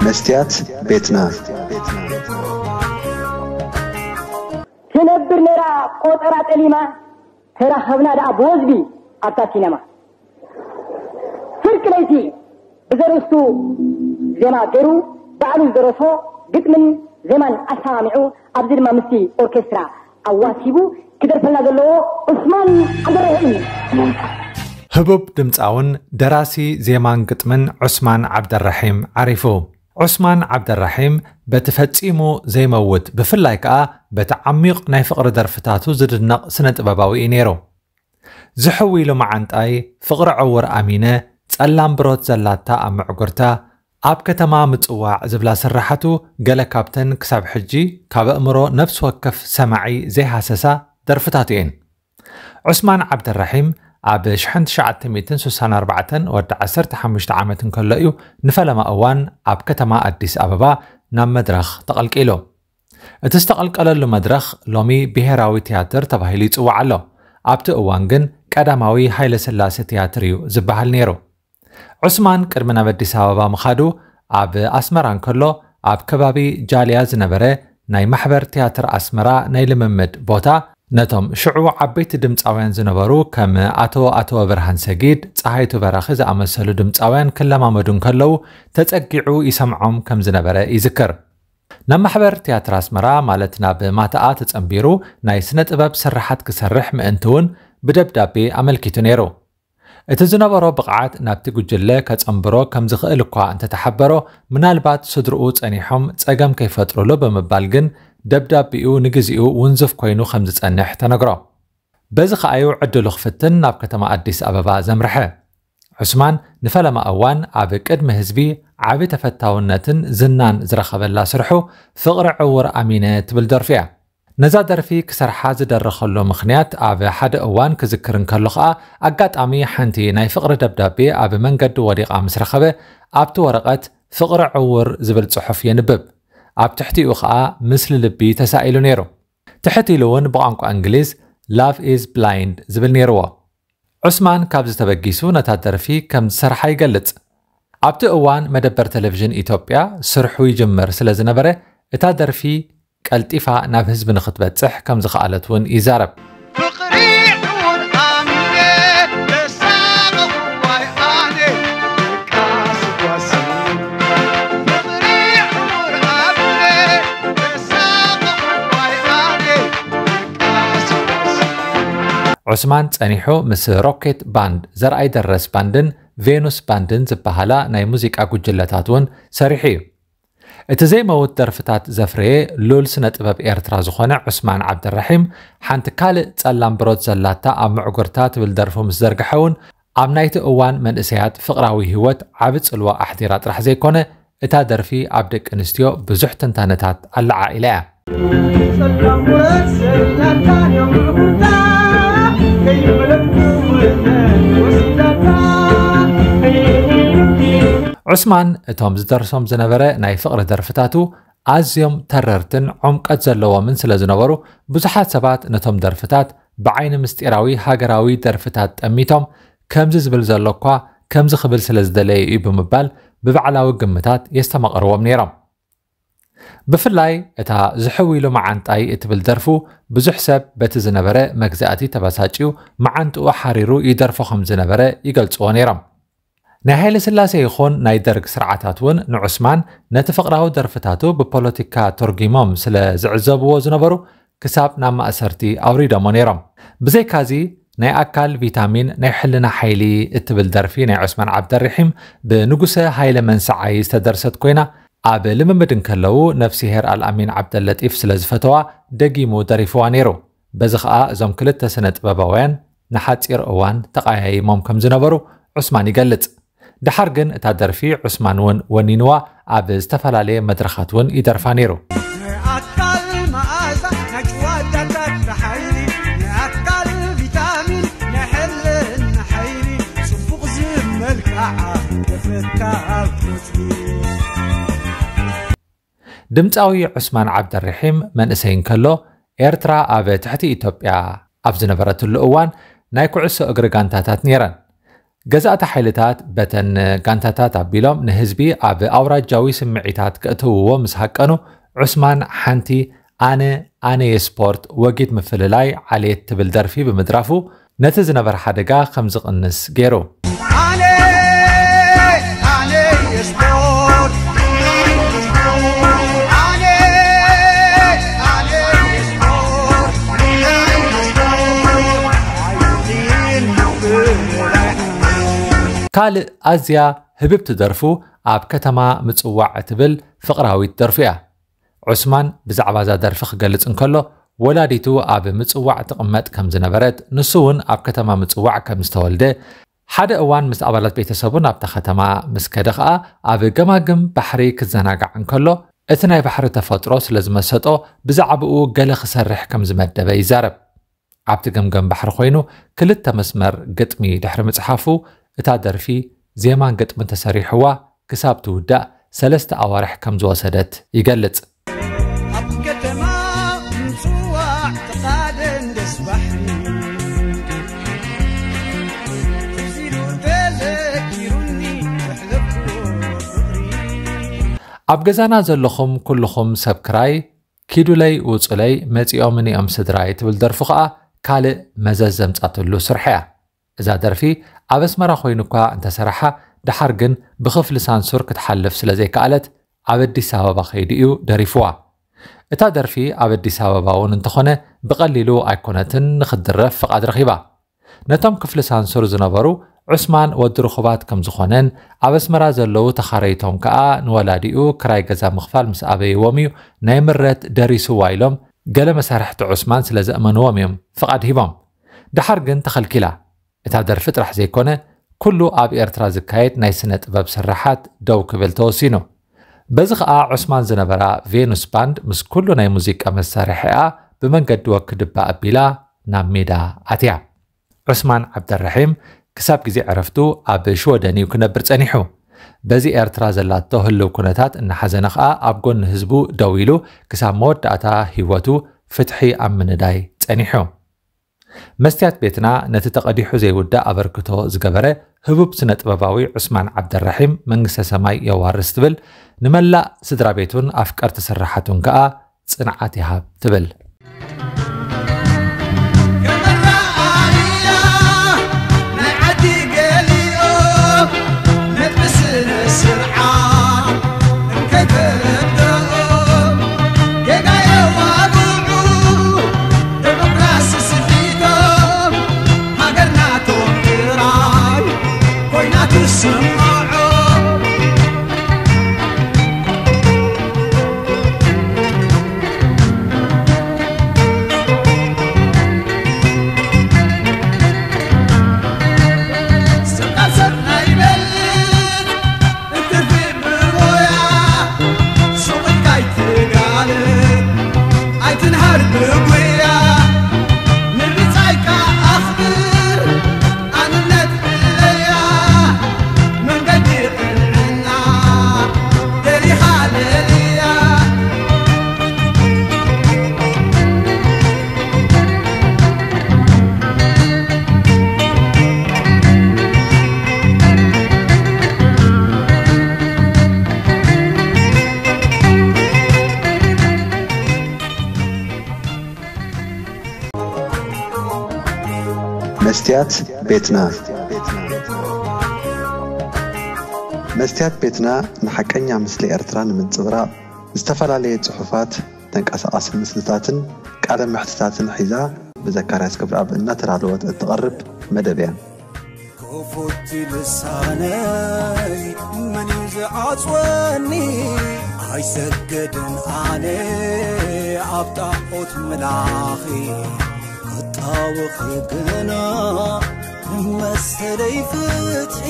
መስትያት ቤትና። ትነብር ነይራ ቆጸራ ጠሊማ፣ ተራኸብና ደኣ ብወዝቢ ኣብታ ሲነማ። ፍርቂ ለይቲ ብዘርእስቱ ዜማ ገይሩ፣ ባዕሉ ዝደረሶ፣ ግጥምን ዜማን ኣሰማሚዑ፣ ኣብዚ ድማ ምስቲ ኦርኬስትራ ኣዋሲቡ ክደርፈልና ዘለዎ ዑስማን ዓብደረሒም እዩ። ህቡብ ድምፃውን ደራሲ ዜማን ግጥምን ዑስማን ዓብደረሒም ዓሪፉ። ዑስማን ዓብደረሒም በቲ ፈጺሙ ዘይመውት፣ ብፍላይ ከኣ በቲ ዓሚቕ ናይ ፍቕሪ ደርፍታቱ ዝድነቕ ስነ ጥበባዊ እዩ ነይሩ። ዝሕዊ ኢሉ መዓንጣይ፣ ፍቕሪ ዕውር ኣሚነ፣ ጸላም ብሮት ዘላታ ኣብ ምዕጉርታ፣ ኣብ ከተማ ምጽዋዕ ዝብላ ስራሓቱ፣ ገለ ካብተን ክሳብ ሕጂ ካብ ኣእምሮ ነፍሲ ወከፍ ሰማዒ ዘይሃሰሳ ደርፍታቱ እየን። ዑስማን ዓብደራሒም ኣብ ሽሕን ትሽዓተ ሚእትን ስሳን ኣርባዕተን ወዲ ዓሰርተ ሓሙሽተ ዓመት እንከሎ እዩ ንፈለማ እዋን ኣብ ከተማ ኣዲስ ኣበባ ናብ መድረኽ ተቐልቂሉ። እቲ ዝተቐልቀለሉ መድረኽ ሎሚ ብሄራዊ ትያትር ተባሂሉ ይጽዋዕ ኣሎ። ኣብቲ እዋን ግን ቀዳማዊ ሃይለስላሴ ትያትር እዩ ዝበሃል ነይሩ። ዑስማን ቅድሚ ናብ ኣዲስ ኣበባ ምኻዱ ኣብ ኣስመራ እንከሎ ኣብ ከባቢ ጃልያ ዝነበረ ናይ ማሕበር ትያትር ኣስመራ ናይ ልምምድ ቦታ ነቶም ሽዑ ዓበይቲ ድምፃውያን ዝነበሩ ከም ኣቶ ኣቶ ብርሃን ሰጊድ፣ ፀሃይቱ በራኺ ዝኣመሰሉ ድምፃውያን ክለማመዱ እንከለዉ ተፀጊዑ ይሰምዖም ከም ዝነበረ ይዝክር። ናብ ማሕበር ትያትር ኣስመራ ማለት ናብ ማታኣ ተፀንቢሩ ናይ ስነ ጥበብ ስርሓት ክሰርሕ ምእንቲ እውን ብደብዳቤ ኣመልኪቱ ነይሩ። እቲ ዝነበሮ ብቕዓት ናብቲ ጉጅለ ከጸንብሮ ከም ዝኽእል እኳ እንተተሓበሮ፣ ምናልባት ስድርኡ ጸኒሖም ጸገም ከይፈጥሩሉ ብምባል ግን ደብዳቤኡ ንግዚኡ ውንዙፍ ኮይኑ ከም ዝጸንሕ ተነግሮ። በዚ ከኣዩ ዕድሉ ክፍትን ናብ ከተማ ኣዲስ ኣበባ ዘምርሐ። ዑስማን ንፈለማ እዋን ኣብ ቅድሚ ህዝቢ ዓቢ ተፈታውነትን ዝናን ዝረኸበላ ስርሑ ፍቕሪ ዕውር ኣሚነ ትብል ደርፊ እያ። ነዛ ደርፊ ክሰርሓ ዝደረኸሉ ምኽንያት ኣብ ሓደ እዋን ክዝክር እንከሎ ኸኣ ኣጋጣሚ ሓንቲ ናይ ፍቕሪ ደብዳቤ ኣብ መንገዲ ወዲቓ ምስ ረኸበ ኣብቲ ወረቐት ፍቕሪ ዕውር ዝብል ጽሑፍ የንብብ። ኣብ ትሕቲኡ ኸኣ ምስሊ ልቢ ተሳኢሉ ነይሩ። ትሕት ኢሉ እውን ብቋንቋ እንግሊዝ Love is blind ዝብል ነይርዎ። ዑስማን ካብዚ ተበጊሱ ነታ ደርፊ ከም ዝሰርሓ ይገልጽ። ኣብቲ እዋን መደበር ቴሌቪዥን ኢትዮጵያ ስርሑ ይጅምር ስለ ዝነበረ እታ ደርፊ ቀልጢፋ ናብ ህዝቢ ንኽትበጽሕ ከም ዝኸኣለት እውን ይዛረብ። ፍቕሪ ዕውር ኣሚነ ተሳቐኹ ዋይ ኣነ ደቃሲ ጓሲ። ፍቕሪ ዕውር ኣሚነ ተሳቐኹ ዋይ ኣነ ደቃሲ ጓሲ። ዑስማን ጸኒሑ ምስ ሮኬት ባንድ፣ ዘርኣይ ደረስ ባንድን ቬኑስ ባንድን ዝበሃላ ናይ ሙዚቃ ጉጅለታት እውን ሰሪሑ እዩ። እቲ ዘይመውት ደርፍታት ዘፍረየ ሉል ስነ ጥበብ ኤርትራ ዝኾነ ዑስማን ዓብደራሒም ሓንቲ ካልእ ጸላም ብሮት ዘላታ ኣብ ምዕጉርታ ትብል ደርፉ ምስ ዘርግሐ እውን ኣብ ናይቲ እዋን መንእሰያት ፍቕራዊ ህይወት ዓቢ ጽልዋ ኣሕዲራ ጥራሕ ዘይኮነ እታ ደርፊ ኣብ ደቂ ኣንስትዮ ብዙሕ ትንታነታት ኣለዓዒላ እያ። ጸላም ብሮት ዘላታ ኣብ ምዕጉርታ ከይመለጥኩ ወሲዳታ። ዑስማን እቶም ዝደርሶም ዝነበረ ናይ ፍቕሪ ደርፍታቱ ኣዝዮም ተረርትን ዕምቀት ዘለዎምን ስለ ዝነበሩ ብዙሓት ሰባት ነቶም ደርፍታት ብዓይኒ ምስጢራዊ ሃገራዊ ደርፍታት ጠሚቶም ከምዚ ዝብል ዘሎ እኳ ከምዚ ክብል ስለ ዝደለየ እዩ ብምባል ብባዕላዊ ግምታት የስተማቕርዎም ነይሮም። ብፍላይ እታ ዝሕው ኢሉ መዓንጣይ እትብል ደርፉ ብዙሕ ሰብ በቲ ዝነበረ መግዛእቲ ተበሳጭዩ መዓንጥኡ ሓሪሩ ይደርፎ ከም ዝነበረ ይገልጽዎ ነይሮም። ናይ ሃይለ ስላሴ ይኹን ናይ ደርግ ስርዓታት እውን ንዑስማን ነቲ ፍቕራዊ ደርፍታቱ ብፖለቲካ ተርጒሞም ስለ ዝዕዘብዎ ዝነበሩ ክሳብ ናብ ማእሰርቲ ኣውሪዶሞ ነይሮም። ብዘይካዚ ናይ ኣካል ቪታሚን ናይ ሕልና ሓይሊ እትብል ደርፊ ናይ ዑስማን ዓብደሪሒም ብንጉሰ ሃይለ መንሰዓይ ዝተደርሰት ኮይና ኣብ ልምምድ እንከለዉ ነፍሲሄር ኣልኣሚን ዓብደለጢፍ ስለ ዝፈተዋ ደጊሙ ደሪፍዋ ነይሩ። በዚ ኸኣ እዞም ክልተ ስነ ጥበባውያን ንሓጺር እዋን ተቐያይሞም ከም ዝነበሩ ዑስማን ይገልጽ። ደሓር ግን እታ ደርፊ ዑስማን እውን ወኒንዋ ኣብ ዝተፈላለየ መድረኻት እውን ይደርፋ ነይሩ። ንኣካል መኣዛ ናይ ጭዋዳታት ሓይሊ ንኣካል ቪታሚን ናይ ሕልና ሓይሊ ጽቡቕ ዝመልክዓ ተፈታዊ ድምፃዊ ዑስማን ዓብደርሒም መንእሰይ እንከሎ ኤርትራ ኣብ ትሕቲ ኢትዮጵያ ኣብ ዝነበረትሉ እዋን ናይ ኩዕሶ እግሪ ጋንታታት ነይረን። ገዛእቲ ሓይልታት በተን ጋንታታት ኣቢሎም ንህዝቢ ኣብ ኣውራጃዊ ስምዒታት ከእትውዎ ምስ ሃቀኑ፣ ዑስማን ሓንቲ ኣነ ኣነ የስፖርት ወጊድ ምፍልላይ ዓሌት ትብል ደርፊ ብምድራፉ ነቲ ዝነበረ ሓደጋ ከም ዝቕንስ ገይሩ። ኣነ ኣነ የስፖርት ኣነ ኣነ የስፖርት ካልእ ኣዝያ ህብብቲ ደርፉ ኣብ ከተማ ምጽዋዕ እትብል ፍቕራዊት ደርፉ እያ። ዑስማን ብዛዕባ እዛ ደርፊ ክገልጽ እንከሎ፣ ወላዲቱ ኣብ ምጽዋዕ ትቕመጥ ከም ዝነበረት፣ ንሱ እውን ኣብ ከተማ ምጽዋዕ ከም ዝተወልደ፣ ሓደ እዋን ምስ ኣባላት ቤተሰቡ ናብታ ከተማ ምስ ከደ ኸኣ፣ ኣብ ገማግም ባሕሪ ክዘናጋዕ እንከሎ፣ እቲ ናይ ባሕሪ ተፈጥሮ ስለ ዝመሰጦ፣ ብዛዕባኡ ገለ ክሰርሕ ከም ዝመደበ ይዛረብ። ኣብቲ ገምገም ባሕሪ ኮይኑ ክልተ መስመር ግጥሚ ድሕሪ ምጽሓፉ፣ እታ ደርፊ ዜማን ግጥምን ተሰሪሕዋ ክሳብ ትውዳእ ሰለስተ ኣዋርሕ ከም ዝወሰደት ይገልጽ። ኣብ ከተማ ምጽዋዕ ተቓደም ደስ ባሕሪ፣ ትዝ ኢሉ ተዘኪሩኒ ዘሕለፍኩዎ ፍቕሪ። ኣብ ገዛና ዘለኹም ኩልኹም ሰብ ክራይ፣ ኪዱለይ ውጹለይ መጺኦምኒ እዮም ስድራይ ትብል ደርፉ ኸኣ ካልእ መዘዝ ዘምጻትሉ ስርሐ እያ። እዛ ደርፊ ኣብ ኣስመራ ኮይኑ እኳ እንተሰራሓ፣ ደሓር ግን ብኽፍሊ ሳንሱር ክትሓልፍ ስለ ዘይከኣለት፣ ኣብ ኣዲስ ኣበባ ከይዱ እዩ ደሪፍዋ። እታ ደርፊ ኣብ ኣዲስ ኣበባ እውን እንተኾነ ብቐሊሉ ኣይኮነትን ንኽትድረፍ ፍቓድ ረኺባ። ነቶም ክፍሊ ሳንሱር ዝነበሩ፣ ዑስማን ወዲ ርኹባት ከም ዝኾነን ኣብ ኣስመራ ዘለዉ ተኻረይቶም ከኣ ንወላዲኡ ክራይ ገዛ ምኽፋል ምስ ኣበይዎም እዩ ናይ ምረት ደሪስዋ ኢሎም፣ ገለ መሳርሕቲ ዑስማን ስለ ዘእመንዎም እዮም ፍቓድ ሂቦም። ደሓር ግን ተኸልኪላ። እታ ደርፊ ጥራሕ ዘይኮነ፣ ኩሉ ኣብ ኤርትራ ዝካየድ ናይ ስነ ጥበብ ስርሓት ደው ክብል ተወሲኑ። በዚ ኸኣ ዑስማን ዝነበራ ቬኑስ ባንድ ምስ ኩሉ ናይ ሙዚቃ መሳርሒኣ ብመንገዲ ወክድባ ኣቢላ ናብ ሜዳ ኣትያ። ዑስማን ዓብደራሒም ክሳብ ግዜ ዕረፍቱ ኣብ ሽወደን እዩ ክነብር ጸኒሑ። በዚ ኤርትራ ዘላቶ ህልው ኩነታት እናሓዘነ ኸኣ ኣብ ጎኒ ህዝቡ ደው ኢሉ ክሳብ መወዳእታ ህይወቱ ፍትሒ ኣብ ምንዳይ ጸኒሑ። መስትያት ቤትና ነቲ ተቐዲሑ ዘይውዳእ ኣበርክቶ ዝገበረ ህቡብ ስነ ጥበባዊ ዑስማን ዓብደራሒም መንግስተ ሰማይ የዋርስ ትብል፣ ንመላእ ስድራ ቤቱን ኣፍቀርቲ ስርሓቱን ከኣ ጽንዓት ይሃብ ትብል። መስትያት ቤትና። መስትያት ቤትና ንሓቀኛ ምስሊ ኤርትራ ንምንጽብራቕ ዝተፈላለየ ጽሑፋት፣ ተንቀሳቓሲ ምስልታትን ቃለ መሕትታትን ሒዛ ብዘካርያስ ክብረኣብ እናተዳለወት እትቐርብ መደብ እያ። ክፉት ልሳነይ መን እዩ ዝዓጽወኒ? ኣይሰግድን ኣነ ኣብ ጣዖት ምላኺ ክጣወኺ ግና መሰለይ ፍትሒ